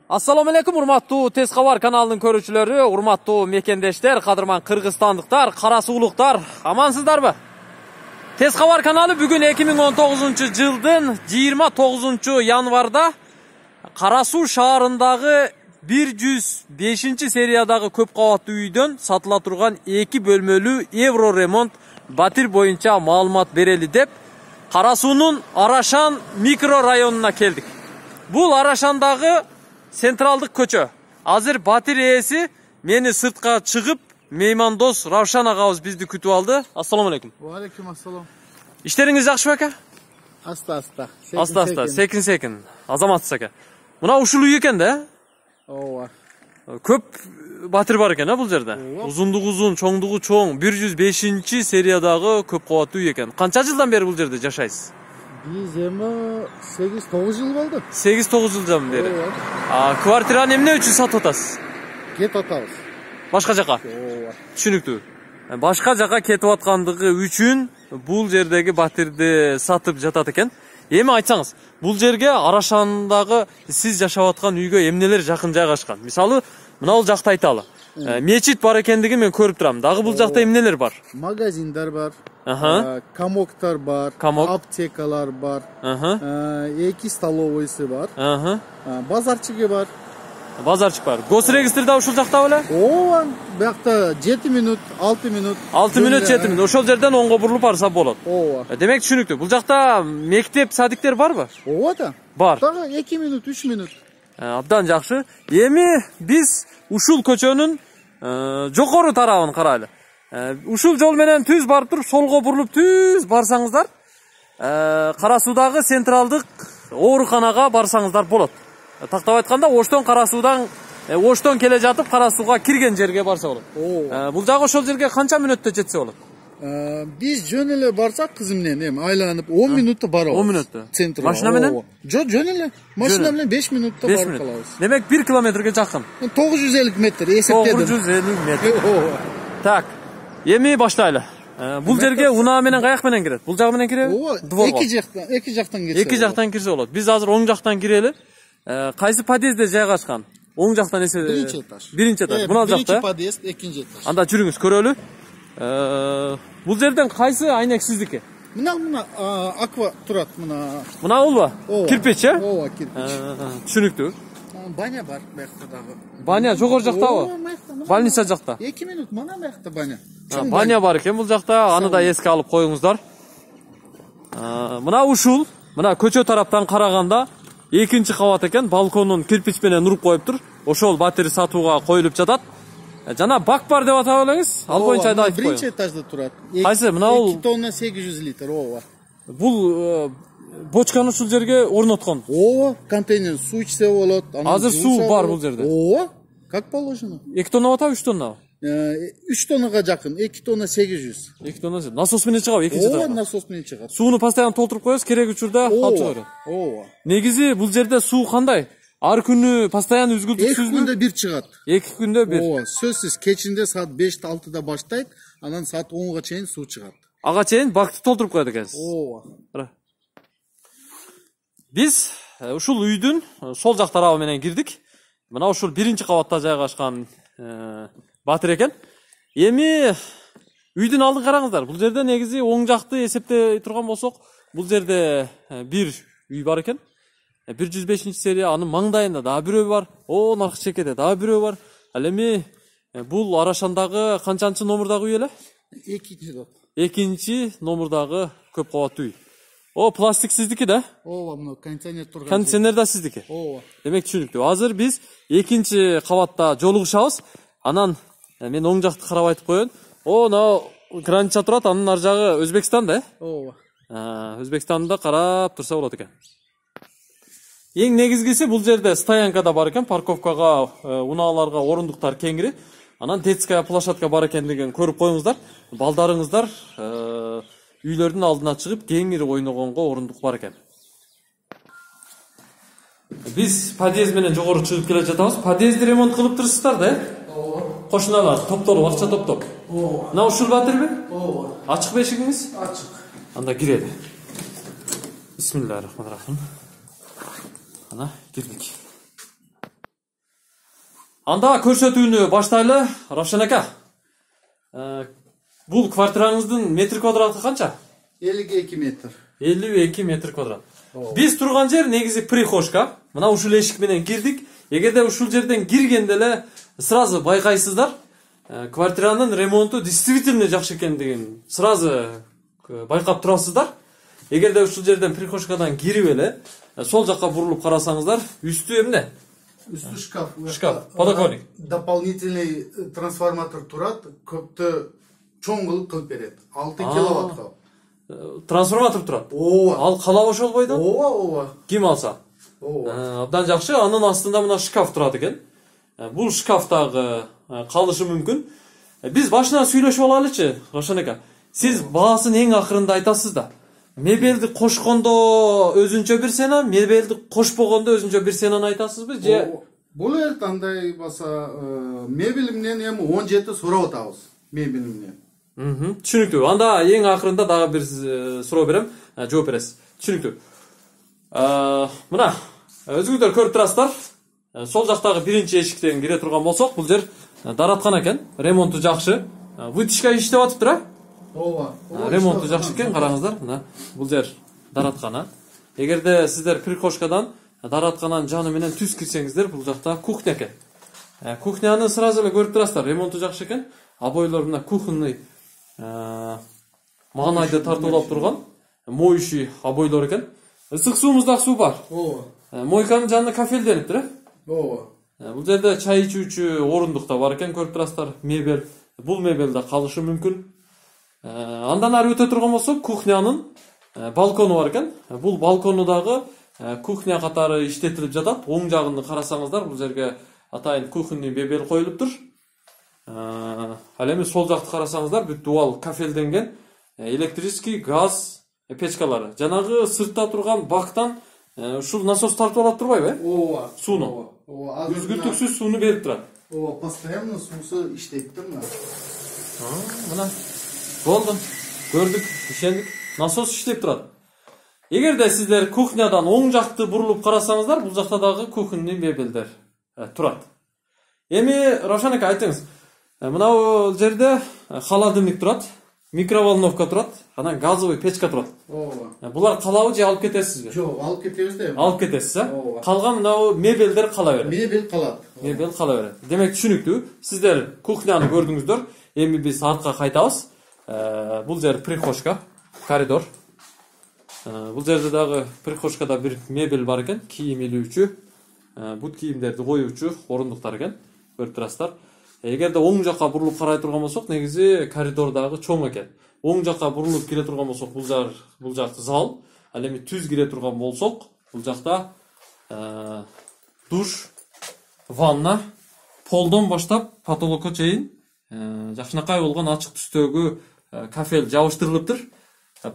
Assalomu alaykum, urmattуу Tez Xabar kanalынын көрүүчүлөрү, урматтуу мекендештер, кадырман кыргызстандыктар, кара суулуктар, амансыздарбы? Tez Xabar каналы бүгүн 2019-жылдын 29-январда Кара Суу шаарындагы 105-сериядагы көп кабаттуу үйдөн сатыла турган 2 бөлмөлүү Евро ремонт батир боюнча маалымат берели деп Кара Суунун Арашан микро районуна келдик. Бул Арашандагы централдык көчө. Азыр батир ээси мени сыртка чыгып, меймандос Равшан агабыз бизди күтүп алды. Ассаламу алейкум. Ва алейкум ассалам. Иштериңиз жакшыбы ака? Аста-аста. Аста-аста, секин-секин. Азаматсыз ака. Мына ушул үй экен да? Ооба. Көп батир бар экен бул жерде. Узундугу узун, чоңдугу чоң, 105-сериядагы көп кабаттуу үй экен. Канча жылдан бери бул жерде жашайсыз? Биз эми 8-9 жыл болду. 8-9 жылдан бери. Квартираны эмне үчүн сатып атасыз? Кетип атабыз. Башка жака? Ооба. Түшүнүктүү. Башка жака кетип аткандыгы үчүн бул жердеги батирди сатып жатат экен. Эми айтсаңыз, бул жерге Арашандагы сиз жашап аткан үйгө эмнелер жакын жайгашкан? Мисалы, мына бул жакта айталы. Мечит бар экендигин мен көрүп турам. Дагы бул жакта эмнелер бар? Магазиндар бар. Камоктар бар, аптекалар бар. 2 столовойсы бар. Базарчыгы бар. Базарчык бар. Госрегистр да ушул жакта беле? Ооба, биякта 7 минут, 6 минут. 6 минут, 7 минут. Ошол жерден оңго бурулуп барса болот. Ооба. Демек түшүнүктүү. Бул жакта мектеп, садиктер барбы? Ооба да. Бар. Дагы 2 минут, 3 минут. Абдан жакшы. Эми биз ушул көчөнүн жогору тарабын карайлы. Ушул жол менен түз барып туруп, солго бурулуп түз барсаңыздар, Кара Суудагы централдык ооруканага барсаңыздар болот. Тактап айтканда, Оштон келе жатып Кара Сууга кирген жерге барса болот. Бул жагы ошол жерге канча мүнөттө жетсе болот? Биз жөн эле барсак кызым менен эми айланып 10 минутта барабыз. 10 минутта. Центрге. Машина менен? Жок, жөн эле. Машина менен 5 минутта барып калабыз. Демек 1 километрге жакын. 950 метр эсептедим. 950 метр. Так. Эми баштайлы. Бул жерге унаа менен каяк менен кирет? Бул жагы менен киреби? Ооба. Эки жактан кирсе. Эки жактан кирсе болот. Биз азыр оң жактан кирели. Кайсы подъездде жайгашкан? Оң жактан эсе биринчи этаж. Биринчи этаж. Мына жакта. Биринчи подъезд, экинчи этаж. Анда жүрүңүз, көрөлү. Бул жерден кайсы айнек сиздики? Мына аква турат, мына. Мына болбу? Кирпич, э? Ооба, кирпич. Түшүнүктүү. Баня бар биякта дагы. Баня жогору жактабы? Больница жакта. 2 минут мана биякта баня. Баня бар экен бул жакта. Аны да эске алып коюңуздар. Мына ушул, мына көчө тараптан караганда экинчи кабат экен, балконун кирпич менен уруп коюптур. Ошол батир сатууга коюлуп жатат. Жана бак бар деп атап элеңиз. Ал боюнча да айтып коюң. Биринчи этажда турат. Кайсы? Мына бул 2 тонна 800 литр, ооба. Бул бочканы ушул жерге орноткон. Ооба, контейнер суу ичсе болот. Азыр суу бар бул жерде. Ооба, как положено. 2 тонна атабы, 3 тонна? 3 тоннага жакын, 2 тонна 800. 2 тонна. Насос менен чыгабы экинчи этажга? Ооба, насос менен чыгат. Сууну постоянно толтуруп коесуз, керек учурда алып чыга берет. Ооба. Негизи бул жерде суу кандай? Ар күнү постоянно үзгүлтүксүзбү? 2 күндө бир чыгат. 2 күндө бир. Ооба, сөзсүз кечинде саат 5-6да баштайт, анан саат 10га чейин суу чыгат. Ага чейин бакты толтуруп коет экенсиз. Ооба. Биз ушул үйдүн сол жак тарабы менен кирдик. Мына ушул биринчи кабатта жайгашкан батир экен. Эми үйдүн алдын караңыздар. Бул жерде негизи оң жакты эсептей турган болсок, бул жерде бир үй бар экен. 105-серия, анын маңдайында дагы бирөө бар. Наркы чекеде дагы бирөө бар. Ал эми бул Арашандагы канчанчы номурдагы үй эле? 2-чи номурдагы көп кабаттуу үй. Пластик сиздики да? Ооба, мына кондиционер турган. Кондиционер да сиздики? Ооба. Демек түшүнүктүү. Азыр биз 2-чи кабатта жолугушабыз. Анан мен оң жакты карап айтып коеюн. Мына граница турат, анын ар жагы Өзбекстан да? Ооба. Өзбекстанда карап турса болот экен. Эң негизгиси бул жерде стоянка да бар экен, парковкага, унааларга орундуктар кеңири. Анан детская площадка бар экендигин көрүп коюңуздар. Балдарыңыздар үйлөрдүн алдына чыгып кеңири ойногонго орундук бар экен. Биз подъезд менен жогору чыгып келе жатабыз. Подъездди ремонт кылып турсуздар да? Ооба. Кошуналар топтолуп, акча топтоп. Ооба. Мына ушул батирби? Ооба. Ачык бешигиңиз? Ачык. Анда кирели. Бисмиллахиррахманиррахим. Ана кирдик. Анда көрсөтүүнү баштайлы. Равшан ака. Бул квартираңыздын метр квадраты канча? 52 метр. 52 метр квадрат. Биз турган жер негизи прихожка. Мына ушул эшик менен кирдик. Эгерде ушул жерден киргенде эле сразу байкайсыздар, квартиранын ремонту действительно жакшы экендигин сразу байкап турасыздар. Эгерде ушул жерден прихожкадан кирип эле сол жакка бурулуп карасаңыздар, үстү эмне? Үстү шкаф. Шкаф, подоконник. Дополнительный трансформатор турат, көптү чоң кылып берет. 6 киловаттка. Трансформатор турат. Ооба. Ал калап ошолбойду? Ооба. Ким алса? Абдан жакшы. Анын астында мына шкаф турат экен. Бул шкафтагы калышы мүмкүн. Биз башынан сүйлөшүп алалычы, Равшан ака. Сиз баасын эң акырында айтасыз да. Мебелди кошкондо өзүнчө бир сена, мебелди кошпогондо өзүнчө бир сенаны айтасызбы? Же бул эле андай баса мебель менен эми 17 сурап атабыз. Мебель менен. Түшүнүктүү. Анда эң акырында дагы бир суроо берем, жооп бересиз. Түшүнүктүү. Мына өзүңүздөр көрүп турасыздар. Сол жактагы биринчи эшиктен кире турган болсок, бул жер дараткан экен. Ремонту жакшы. Вытяжка иштеп атыптыр, а? Ооба. Ремонту жакшы экен, караңыздар. Мына бул жер дараткан. Эгерде сиздер прихожкадан даратканын жаны менен түз кирсеңиздер, бул жакта кухня экен. Кухняны сразу эле көрүп турасыздар. Ремонту жакшы экен. Обойлор мына кухонный маанайды тартуулап турган моющий обойлор экен. Ысык суумуз дагы суу бар. Ооба. Мойканын жанына кафелдениптир, Ооба. Бул жерде чай ичүүчү орундук да бар экен, көрүп турасыздар. Мебель. Бул мебель да калышы мүмкүн. Андан ары өтө турган болсок, кухнянын балкону бар экен. Бул балкону дагы кухня катары иштетилип жатат. Оң жагын карасаңыздар, бул жерге атайын кухонный мебель коюлуптур. Ал эми сол жакты карасаңыздар, бүт дуал кафелденген, электрический, газ печкалары. Жанагы сыртта турган бактан ушул насос тартып алат турбайбы? Ооба. Сууну. Ооба. Үзгүлтүксүз сууну берип турат. Ооба, постоянно суусу иштейт турму? Мына болду. Көрдүк, ишендик. Насос иштеп турат. Эгерде сиздер кухнядан оң жакты бурулуп карасаңыздар, бул жакта дагы кухонный мебелдер турат. Эми Равшан ака айтыңыз. Мына жерде холодильник турат, микроволновка турат, анан газовый печка турат. Ооба. Булар калабы же алып кетесизби? Жок, алып кетебиз да. Алып кетесиз, Ооба. Калган мына мебелдер кала берет. Мебель калат. Мебель кала берет. Демек түшүнүктүү. Сиздер кухняны көрдүңүздөр. Эми биз артка кайтабыз. Бул жер прихожка, коридор. Бул жерде дагы прихожкада бир мебель бар экен, кийим илүүчү, бут кийимдерди коюучу орундуктар экен. Көрүп турасыздар. Эгерде оң жакка бурулуп карай турган болсок, негизи коридор дагы чоң экен. Оң жакка бурулуп кире турган болсок, бул жакты зал. Ал эми түз кире турган болсок, бул жакта душ, ванна, полдон баштап потолокко чейин жакшынакай болгон ачык түстөгү кафель жабыштырылыптыр.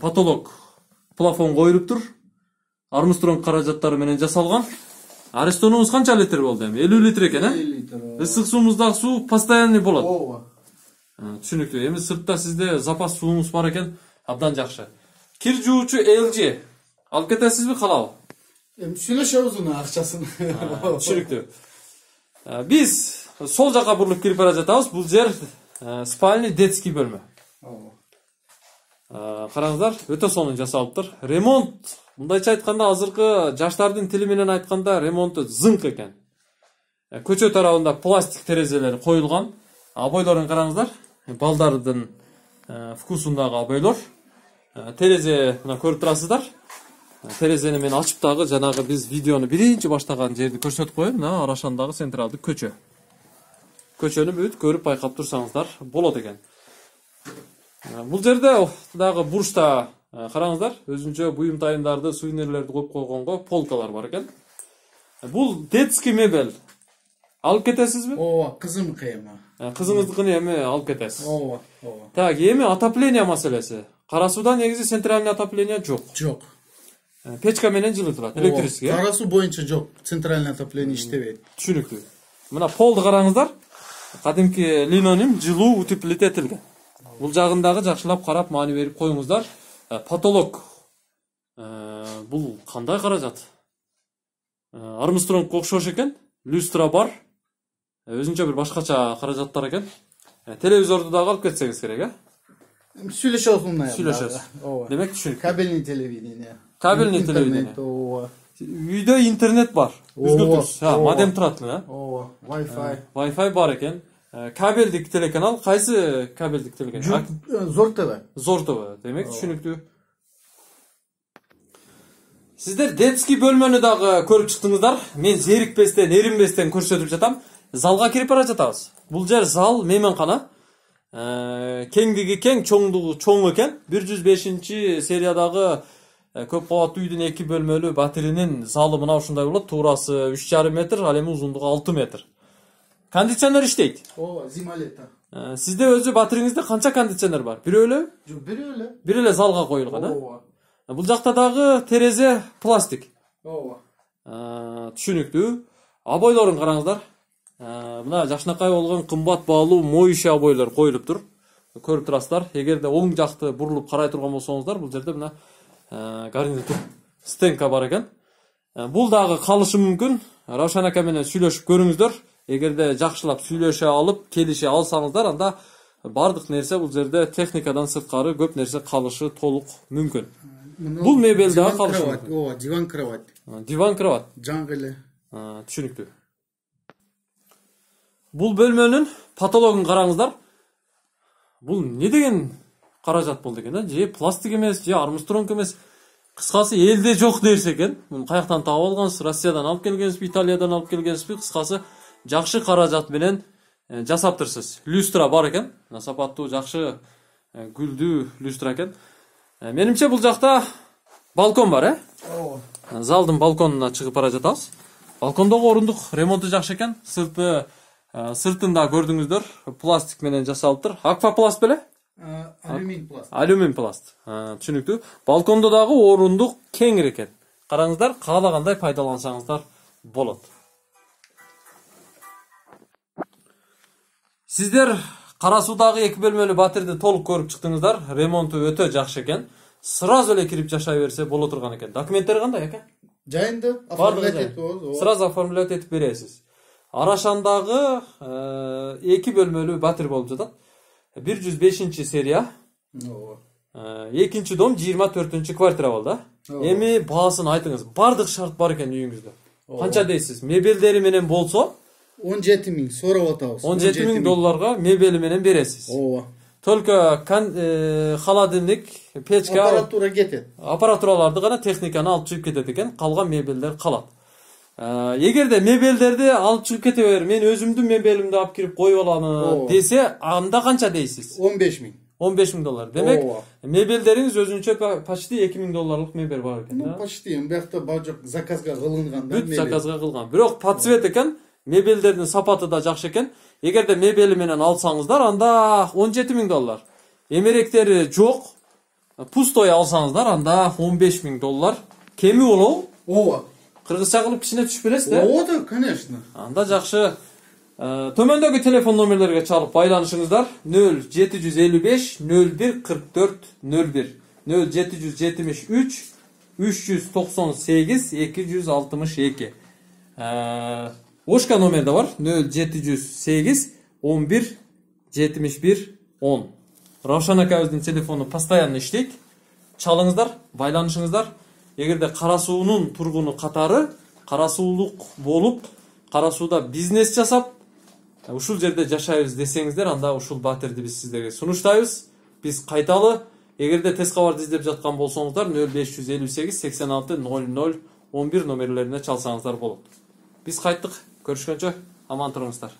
Потолок плафон коюлуптур. Армстронг каражаттары менен жасалган. Арестонубуз канча литр болду эми? 50 литр экен, 50 литр. Ысык суумуздагы суу постоянный болот. Ооба. Түшүнүктүү. Эми сыртта сизде запас суумуз бар экен, абдан жакшы. Кир жуучу LG алып кетесизби, калабы? Эми сүйлөшөбүз унун акчасын. Түшүнүктүү. Биз сол жака бурулуп кирип бара жатабыз. Бул жер спальный детский бөлмө. Караңыздар, өтө сонун жасалыптыр. Ремонт, мындайча айтканда, азыркы жаштардын тили менен айтканда, ремонту зыңк экен. Көчө тарабында пластик терезелер коюлган. Обойлорун караңыздар. Балдардын вкусундагы обойлор. Терезе мына көрүп турасыздар. Терезени мен ачып дагы жанагы биз видеону биринчи баштаган жерди көрсөтүп коеюн. Мына Арашандагы централдык көчө. Көчөнү бүт көрүп байкап турсаңыздар болот экен. Бул жерде дагы бурчта караңыздар, өзүнчө буюм-тайымдарды, сувенирлерди коюп койгонго полкалар бар экен. Бул детский мебель. Алып кетесизби? Ооба, кызымдыкы эми. Кызыңыздыкын эми алып кетесиз. Ооба, ооба. Так, эми отопление маселеси. Кара сууда негизи центральный отопление жок. Жок. Печка менен жылытылат, электрический. Кара суу боюнча жок, центральный отопление иштебейт. Түшүнүктүү. Мына полду караңыздар. Кадимки линоним жылуу утеплить этилген. Бул жагындагы жакшылап карап маани берип коюңуздар. Потолок. Бул кандай каражат? Армстронгко окшош экен. Люстра бар. өзүнчө бир башкача каражаттар экен. Телевизорду дагы алып кетсеңиз керек, Сүйлөшөбүз мындай. Сүйлөшөбүз. Демек түшүнүк. Кабельный телевидение. Кабельный телевидение. Үйдө интернет бар. Үзгүлтүрсүз. Модем турат эле, Ооба, Wi-Fi. Wi-Fi бар экен. Кабелдик телеканал кайсы кабелдик телеканал? Зор ТВ. Зор ТВ. Демек түшүнүктүү. Сиздер детский бөлмөнү дагы көрүп чыктыңыздар. Мен зерикпестен, эринбестен көрсөтүп жатам. Залга кирип бара жатабыз. Бул жер зал мейманкана. Кеңдиги кең, чоңдугу чоң экен. 105-сериядагы көп кабаттуу үйдүн 2 бөлмөлүү батиринин залы мына ушундай болот. Туурасы 3,5 метр, ал эми узундугу 6 метр. Кондиционер иштейт. Ооба, зима лето. Сизде өзү батириңизде канча кондиционер бар? Бирөө эле? Жок, бирөө эле. Бир эле залга коюлган, Ооба. Бул жакта дагы терезе пластик. Ооба. Түшүнүктүү. Обойлорун караңыздар. Мына жакшынакай болгон кымбат баалуу моющий обойлор коюлуптур. Көрүп турасыздар. Эгерде оң жакты бурулуп карай турган болсоңуздар, бул жерде мына гарнитур стенка бар экен. Бул дагы калышы мүмкүн. Равшан ака менен сүйлөшүп көрүңүздөр. Эгерде жакшылап сүйлөшө алып, келише алсаңыздар, анда бардык нерсе бул жерде техникадан сырткары көп нерсе калышы толук мүмкүн. Бул мебель дагы калышы мүмкүн. Ооба, диван кровать. Диван кровать. Жаңы эле. Түшүнүктүү. Бул бөлмөнүн потологун караңыздар. Бул не деген каражат болду экен, же пластик эмес, же армстронг эмес. Кыскасы элде жок нерсе экен. Муну каяктан таап алгансыз? Россиядан алып келгенсизби, Италиядан алып келгенсизби? Кыскасы жакшы каражат менен жасаптырсыз. Люстра бар экен. Сапаттуу, жакшы гүлдүү люстра экен. Менимче бул жакта балкон бар, Ооба. Залдын балконуна чыгып бара жатабыз. Балкондогу орундук ремонту жакшы экен. Сыртында көрдүңүздөр, пластик менен жасалыптыр. Аквапласт беле? Алюмин пласт. Алюмин пласт. Түшүнүктүү. Балкондо дагы орундук кеңир экен. Караңыздар, каалагандай пайдалансаңыздар болот. Сиздер Кара Суудагы 2 бөлмөлүү батирди толук көрүп чыктыңыздар. Ремонту өтө жакшы экен. Сразу эле кирип жашай берсе боло турган экен. Документтери кандай экен? Жайында оформлять этип болобуз. Сразу оформлять этип бересиз. Арашандагы 2 бөлмөлүү батир болуп жатат. 105-серия. Ооба. Экинчи дом 24 квартира болду. Эми баасын айтыңыз. Бардык шарт бар экен үйүңүздө. Канча дейсиз? Мебелдери менен болсо 17 000 сурап атабыз. 17 000 долларга мебели менен бересиз. Ооба. Только холодильник, печка, Аппаратура кетет. Аппаратураларды гана техниканы алып чыгып кетет экен, калган мебелдер калат. Эгерде мебелдерди алып чыгып кете бер, мен өзүмдүн мебелимди алып кирип коюп алам десе, анда канча дейсиз? 15 000. 15 000 доллар. Демек, мебелдериңиз өзүнчө почти 2 000 долларлык мебель бар экен, да? Почти, биякта бажок заказга кылынган да. Бүт заказга кылган. Бирок под цвет экен, мебелдердин сапаты да жакшы экен. Эгерде мебели менен алсаңыздар, анда 17 000 доллар. Эмеректери жок, пустой алсаңыздар, анда 15 000 доллар. Кеми болобу? Ооба. Кыргызча кылып кичине түшүп бересиз да? Ооба да, конечно. Анда жакшы. Төмөндөгү телефон номерлерге чалып байланышыңыздар. 0755 01 44 01 0773 398 262. Ошка номер да бар. 0708 11 71 10. Равшан акабыздын телефону постоянно иштейт. Чалыңыздар, байланышыңыздар. Эгерде Кара Суунун тургуну катары Кара Суулук болуп, Кара Сууда бизнес жасап, ушул жерде жашайбыз десеңиздер, анда ушул батирди биз сиздерге сунуштайбыз. Биз кайталы, эгерде тез кабарды издеп жаткан болсоңуздар, 0558 86 00 11 номерлерине чалсаңыздар болот. Биз кайттык. Көрүшкөнчө аман туруңуздар.